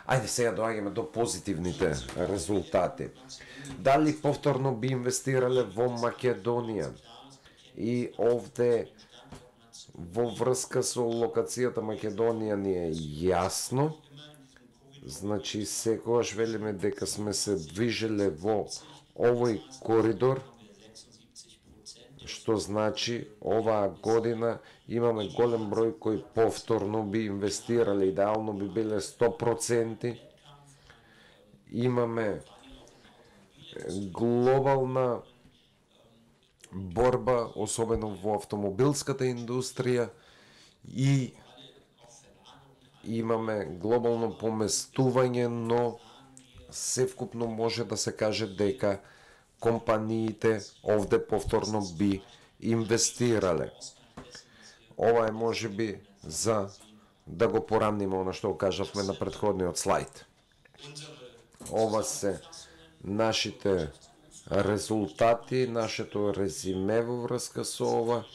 Ајде сега доаѓаме до позитивните резултати. Дали повторно би инвестирале во Македонија? И овде во врска со локацијата Македонија ни е јасно. Значи секогаш велиме дека сме се движеле во овој коридор, што значи оваа година имаме голем број кои повторно би инвестирале, идеално би биле 100%. Имаме глобална борба, особено во автомобилската индустрија, и имаме глобално поместување, но севкупно може да се каже дека компаниите овде повторно би инвестирале. Ова е можеби за да го порамниме она што го кажавме на претходниот слайд. Ова се нашите резултати, нашето резиме во врска со ова.